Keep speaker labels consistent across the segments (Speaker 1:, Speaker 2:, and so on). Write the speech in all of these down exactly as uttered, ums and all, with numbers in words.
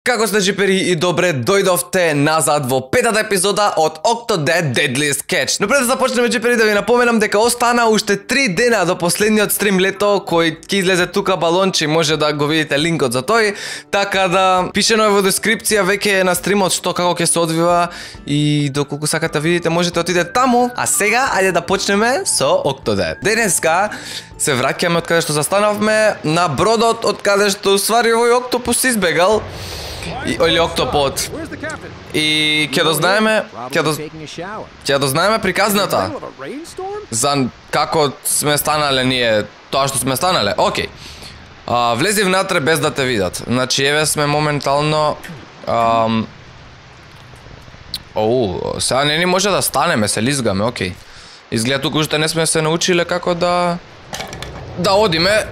Speaker 1: Како сте джипери и добре дојдовте назад во петата епизода од Octodad Deadliest Catch. Но пред да започнеме джипери да ви напоменам дека остана уште три дена до последниот стрим лето кој ќе излезе тука балонче, може да го видите линкот за тој. Така да пишено е во дескрипција веќе на стримот што како ќе се одвива и доколку сакате да видите можете отидете таму. А сега ајде да почнеме со Octodad. Денеска се враќаме од каде што застанавме на бродот од каде што ствари овој октопус избегал. И, или октопод. И ќе дознаеме, ќе доз... ќе дознаеме приказната за како сме станале ние тоа што сме станале. Океј. А, влези внатре без да те видат. Значи еве сме моментално ам... Оу, сега не ни може да станеме, се лизгаме, океј. Изгледа туку уште не сме се научиле како да да одиме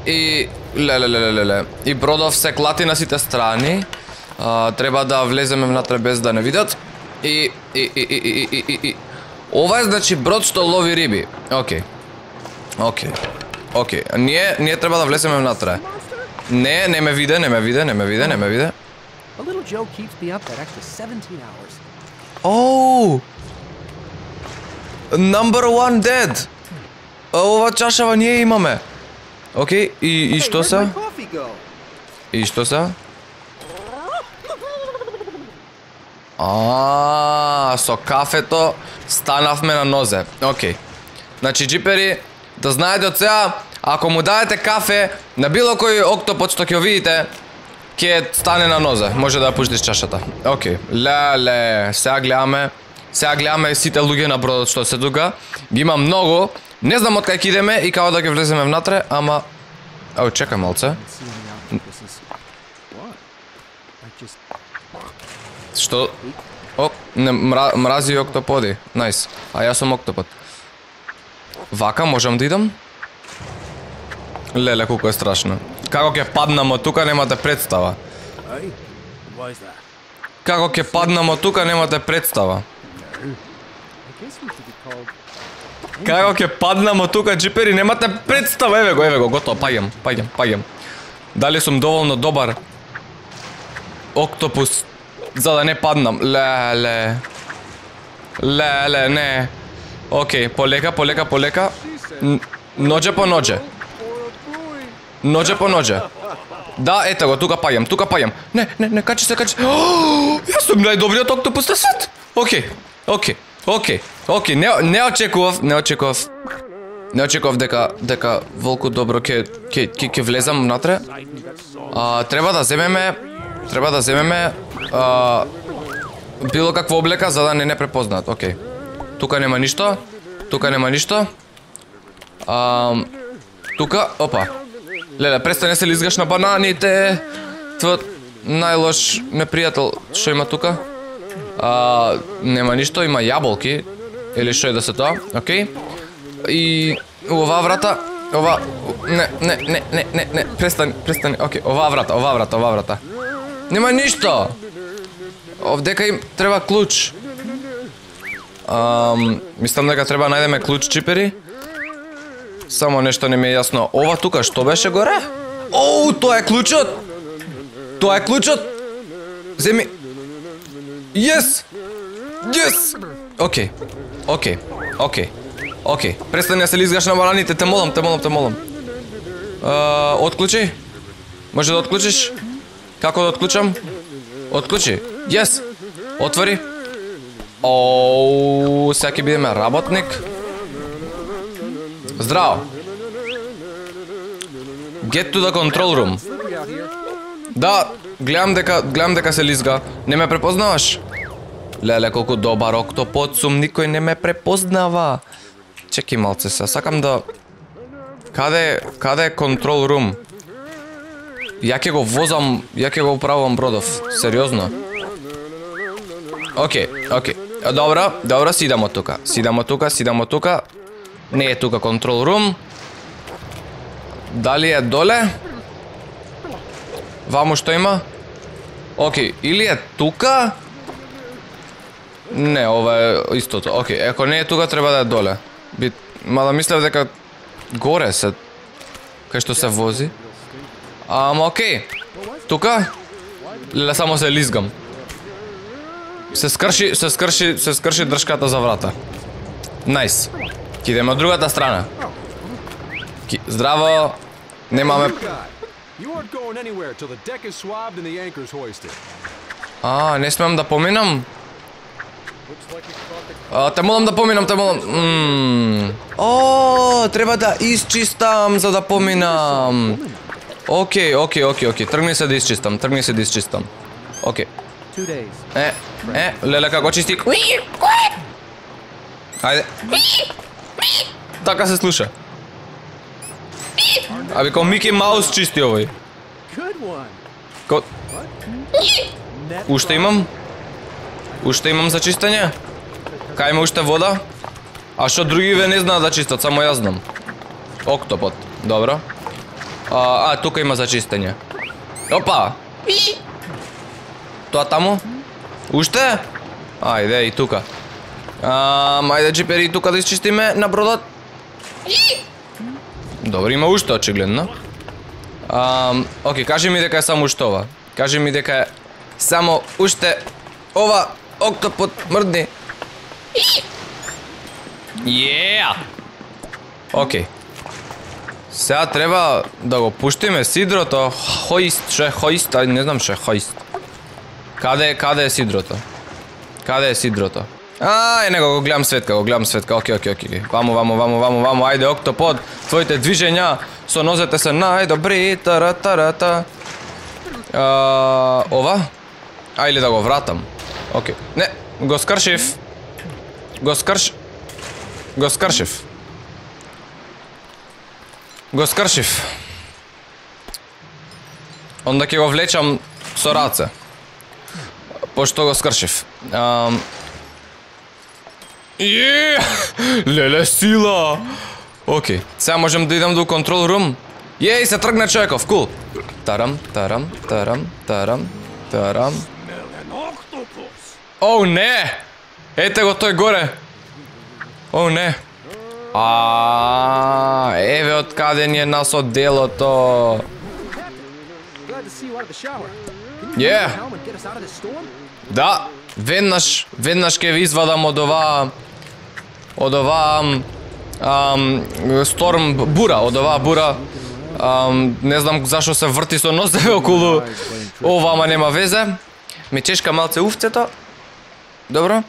Speaker 1: и леле леле леле. И бродов се клати на сите страни. А, треба да влеземе внатре без да не видат. И и и и и и и и. Ова е значи брод што лови риби. Океј. Океј. Океј. Ние ние треба да влеземе внатре. Не, не ме виде, не ме виде, не ме виде, не ме виде. Оу. Number one dead. Ова чашава ние имаме. Океј, и и што се? И што се? А, со кафето станавме на нозе. Океј. Значи джипери, да знаете од сега, ако му дадете кафе на било кој октопод што ќе видите, ќе стане на нозе. Може да ја пуштиш чашата. Океј. Леле, сега гледаме. Сега гледаме сите луѓе на бродот што се тука. Ги има многу. Не знам од кај ќе идеме и како да ќе влеземе внатре, ама Ау, чекај малце. Што? О, не, мра, мрази октоподи. Најс. А јас сум октопод. Вака можам да идам? Леле, колку е страшно. Како ќе паднам од тука немате представа. Како ќе паднам од тука немате представа. Како ќе паднам од тука джипери немате представа. Еве го, еве го, готово, паѓам, паѓам, паѓам. Дали сум доволно добар октопус за да не паднам? Леле. Леле, не. Океј, полека, полека, полека. Ноđe по ноđe. Ноđe по ноđe. Да, ето го, тука паѓам, тука паѓам. Не, не, не, качи се, качи се. Јас сум најдобриот октопус на свет. Океј, океј, океј, океј, не, не очекував, не очекував. Не очекував дека дека волку добро ќе ќе ќе ќе влезам внатре. А, треба да земеме, треба да земеме а, било каква облека за да не не препознаат. Океј. Тука нема ништо. Тука нема ништо. А, тука, опа. Леле, престани се лизгаш на бананите. Твојот најлош непријател што има тука. А, нема ништо, има јаболки или што е да се тоа. Океј. И оваа врата, ова не не не не не не престани, престани. Океј, оваа врата, оваа врата, оваа врата. Нема ништо. Овдека им треба клуч. Ам, мислам дека треба најдеме клуч джипери. Само нешто не ми е јасно. Ова тука што беше горе? Оу, тоа е клучот. Тоа е клучот. Земи. Yes. Yes. Океј. Океј. Океј. Океј. Престани да се лизгаш на бананите, те молам, те молам, те молам. Uh, отклучи? Може да отклучиш? Како да отклучам? Отклучи. Yes. Отвори. Оу, сега ќе бидеме работник. Здраво. Get to the control room. Да, гледам дека, гледам дека се лизга. Не ме препознаваш? Леле, колку добар октопод сум, никој не ме препознава. Чеки малце се, сакам да... Каде, каде е control room? Ја ќе го возам, ја ќе го управувам бродов, сериозно. Океј, океј. Добро, добро, сидам од тука. Сидам од тука, сидам од тука. Не е тука control room. Дали е доле? Ваму што има? Океј, или е тука? Не, ова е истото. Океј, ако не е тука, треба да е доле. Би... Мада мислев дека горе се... Кај што се вози. Ама океј. Тука? Леле, само се лизгам. Се скрши, се скрши, се скрши дршката за врата. Најс. Ки идеме од другата страна. Ки, здраво. Немаме... А, не смеам да поминам? А, те молам да поминам, те молам. Ммм. О, треба да исчистам за да поминам. Океј, океј, океј, океј. Тргни се да исчистам, тргни се да исчистам. Океј. Е, е, леле како чисти. Ајде. Така се слуша. Аби као Мики Маус чисти овој. Ко... Уште имам? Уште имам за чистење? Кај има уште вода? А што другиве не знаат да чистат, само јас знам. Октопод, добро. А, а, тука има за чистење. Опа! Тоа таму? Уште? Ајде, и тука. Ам, ајде, джипери, и тука да исчистиме на бродот. Добро, има уште, очигледно. Ам, окей, кажи ми дека е само уште ова. Кажи ми дека е само уште ова октопод мрдни. Јеа! Окей. Сега треба да го пуштиме сидрото. Хоист, ше хоист, ај не знам ше хоист. Каде, каде е сидрото? Каде е сидрото? Ај, него го гледам светка, го гледам светка. Окей, окей, окей. Вамо, вамо, вамо, вамо, вамо. Ајде, октопод. Твоите движења со нозете се најдобри. Тара, тара, та. А, ова? А, или да го вратам. Окей. Не, го скршив. Го скрш... Го скршив. Го скршив. Онда ќе го влечам со раце. Пошто го скршив. Ам... Јеее! Леле, сила! Океј, сега можем да идам до контрол рум. Јеј, се тргна човеков, кул! Тарам, тарам, тарам, тарам, тарам. Оу, не! Ете го тој горе! Оу, не! А, еве од каде ни е нас од делото. Је! Да, веднаш, веднаш ќе ви извадам од оваа од оваа ам, сторм бура, од оваа бура. Ам, не знам зашо се врти со носеве околу ова, ама нема везе. Ме чешка малце уфцето. Добро,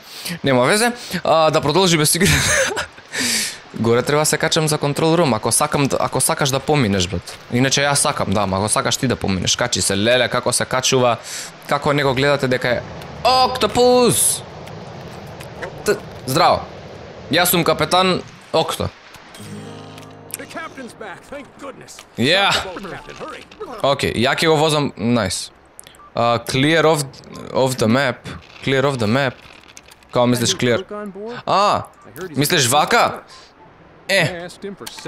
Speaker 1: нема везе. А, да продолжиме си игра. Горе треба се качам за контрол рум, ако сакам, ако сакаш да поминеш, брат. Иначе јас сакам, да, ама ако сакаш ти да поминеш, качи се, леле, како се качува, како него гледате дека е Октопус! Т... Здраво. Јас сум капетан Окто. Ја! Океј, ја ќе го возам, најс. Clear of, of the map. Clear of the map. Као мислиш clear? А, мислиш вака? Е,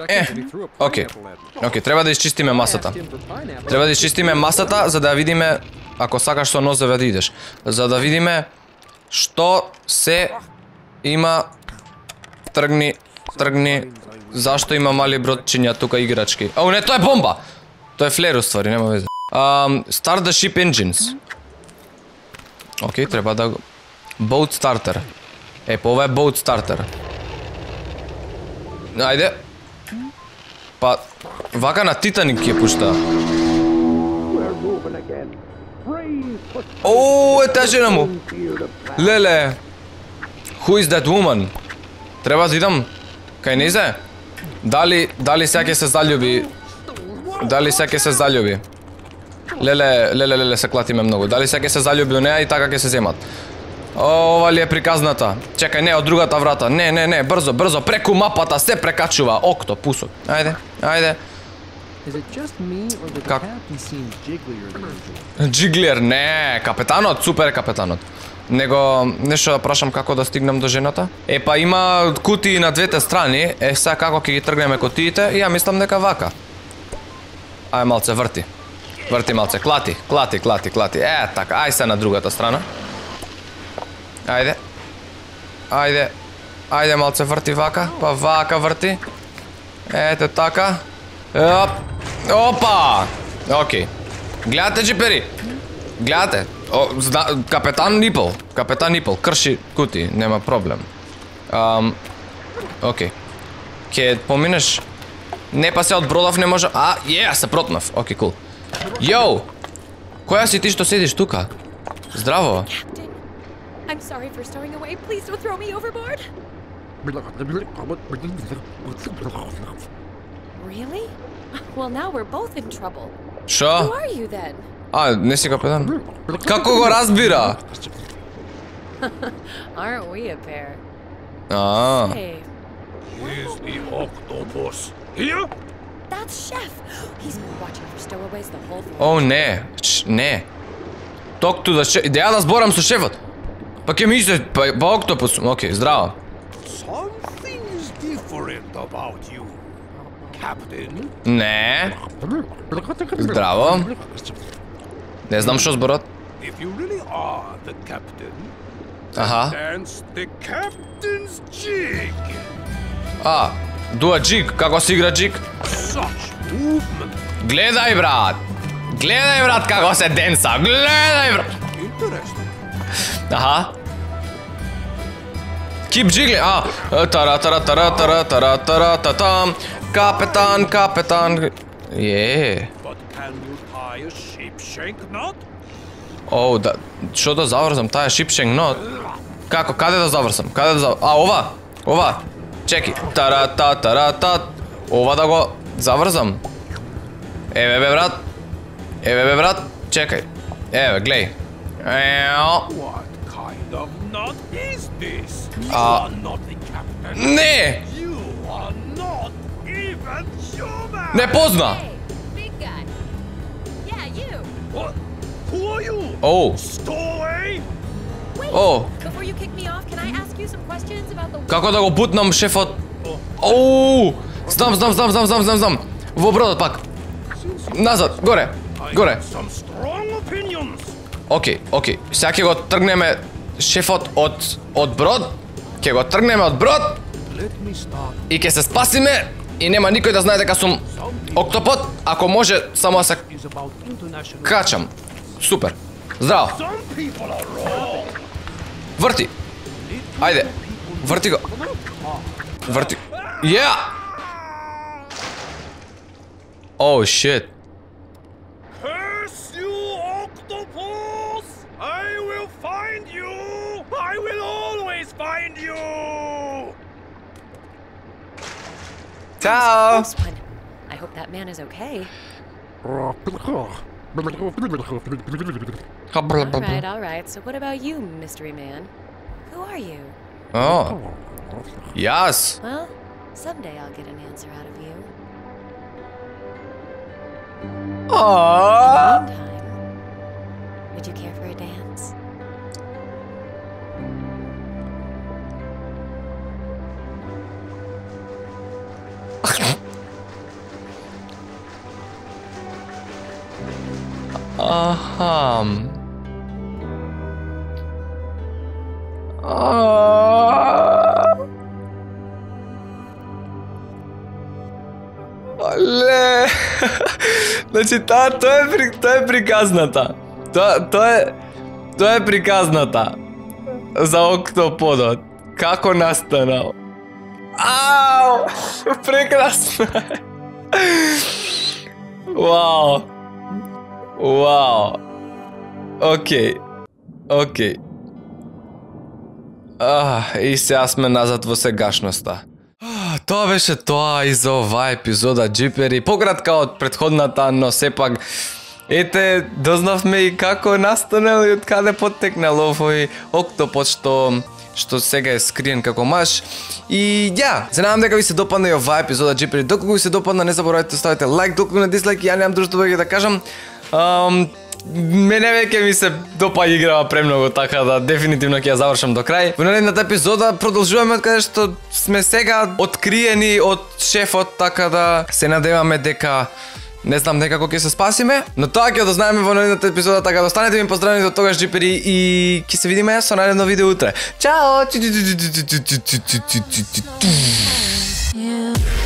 Speaker 1: е, окей, окей, треба да исчистиме масата. Треба да исчистиме масата, за да видиме, ако сакаш со нозеве да идеш, за да видиме што се има. Тргни, тргни, зашто има мали бродчиња тука играчки. Ау, не, тоа е бомба! Тоа е флер, уствари, нема везе. Um, start the ship engines. Окей, треба да... Boat starter. Е, па ова е boat starter. Ајде. Па, вака на Титаник ќе пушта. Ооо, е таа жена му. Леле. Who is that woman? Треба да идам кај незе? Дали, дали сега ќе се заљуби? Дали сега ќе се заљуби? Леле, леле, леле, се клатиме многу. Дали сега ќе се заљуби у неа и така ќе се земат? Ова ли е приказната? Чекај, не, од другата врата. Не, не, не, брзо, брзо, преку мапата се прекачува. Октопусот. Ајде, ајде. Как? Джиглер, не, капетанот, супер капетанот. Него, нешто да прашам како да стигнам до жената. Е, па има кутии на двете страни. Е, сега како ќе ги тргнеме кутиите? Ја мислам дека вака. Ај малце, врти. Врти малце, клати, клати, клати, клати. Е, така, ај се на другата страна. Ајде. Ајде. Ајде малце, врти вака, па вака врти. Ете така. Оп. Опа! Океј. Гледате, джипери. Гледате, о, зна, капетан Нипл, капетан Нипл, крши кути, нема проблем. Ам, окей. Ке поминеш? Не, па се од бродов не може... А, е, се протнав. Окей, кул. Йоу! Која си ти што седиш тука? Здраво.
Speaker 2: I'm sorry for stowing away. Please don't throw me overboard. Really? Well, now we're both in trouble. Who
Speaker 1: Шо?
Speaker 2: are you then?
Speaker 1: А, не си капетан. Како го разбира?
Speaker 2: Aren't we a pair?
Speaker 1: А.
Speaker 2: Hey,
Speaker 3: Is the octopus here?
Speaker 2: that's Chef. He's been watching for stowaways the whole time.
Speaker 1: О, не. Ч, не. Ток ту да ше... Деја да зборам со шефот. Па ке мисле, па, па октопус. Окей, здраво.
Speaker 3: Something's different about you, Captain.
Speaker 1: Не. Здраво. Не знам што зборот.
Speaker 3: If you really are the captain,
Speaker 1: Аха.
Speaker 3: dance the captain's jig.
Speaker 1: А, дуа джиг, како се игра джиг?
Speaker 3: Such movement.
Speaker 1: Гледај, брат. Гледај, брат, како се денса. Гледај, брат.
Speaker 3: Interesting.
Speaker 1: Аха. Keep jiggling. А, тара тара тара тара тара тара татам. Капетан, капетан. Е.
Speaker 3: But can you tie a sheepshank knot?
Speaker 1: Оу, да, што да заврзам таа шипшенг нот? Како, каде да заврзам? Каде да заврзам? А, ова? Ова? Чеки. Тара та тара та. Ова да го заврзам. Еве бе, брат. Еве бе, брат. Чекај. Еве, глеј. Ео.
Speaker 3: What kind of knot is this? You
Speaker 1: Uh,
Speaker 3: are not the captain.
Speaker 1: Не!
Speaker 3: You are not even human.
Speaker 1: Не позна!
Speaker 2: Hey, big guy. Yeah, you.
Speaker 3: What? Who are you?
Speaker 1: Оу,
Speaker 3: Stowaway?
Speaker 2: Wait.
Speaker 1: Oh.
Speaker 2: Before you kick me off, can I ask you some questions about the...
Speaker 1: како да го бутнам шефот? Оу! Знам, знам, знам, знам, знам, знам, знам. Во бродот пак. Назад, горе.
Speaker 3: I
Speaker 1: Горе.
Speaker 3: have some strong opinions.
Speaker 1: Океј, океј. Сега ќе го тргнеме шефот од од брод. Ќе го тргнеме од брод
Speaker 3: Let me start.
Speaker 1: и ќе се спасиме и нема никој да знае дека сум октопод, ако може само да се
Speaker 3: Is about international.
Speaker 1: качам. Супер. Здраво.
Speaker 3: Some people are wrong.
Speaker 1: Врти. Ајде. Врти го. Врти. Yeah. Oh shit.
Speaker 3: Curse you, octopus! I will find you! I will always find you!
Speaker 1: Ciao.
Speaker 2: Close one. I hope that man is okay. All right, all right. So what about you, mystery man? Who are you?
Speaker 1: Oh. Yes.
Speaker 2: Well, someday I'll get an answer out of you.
Speaker 1: Aww.
Speaker 2: Meantime, would you care for a dance?
Speaker 1: Ахам. Аа. Оле. Значи таа тоа е при тоа е приказната. Тоа тоа е тоа е приказната за октоподот. Како настанал? Ау! Прекрасно. Вау. Вау. Океј. Океј. А, и сега сме назад во сегашноста. А, тоа беше тоа и за оваа епизода Джипери. Пократка од претходната, но сепак ете, дознавме и како настанал и од каде поттекнал овој октопод што што сега е скриен како маж. И ја, се надам дека ви се допадна и оваа епизода Джипери. Доколку ви се допадна, не заборавајте да ставите лайк, доколку не дислайк, ја немам друштво да да кажам. Um, мене веќе ми се допаѓа играва премногу, така да дефинитивно ќе ја завршам до крај. Во наредната епизода продолжуваме од каде што сме сега откриени од шефот, така да се надеваме дека не знам некако ќе се спасиме, но тоа ќе дознаеме во наредната епизода, така да останете ми поздравени до тогаш Джипери и ќе се видиме со наредно видео утре. Чао!
Speaker 2: Yeah.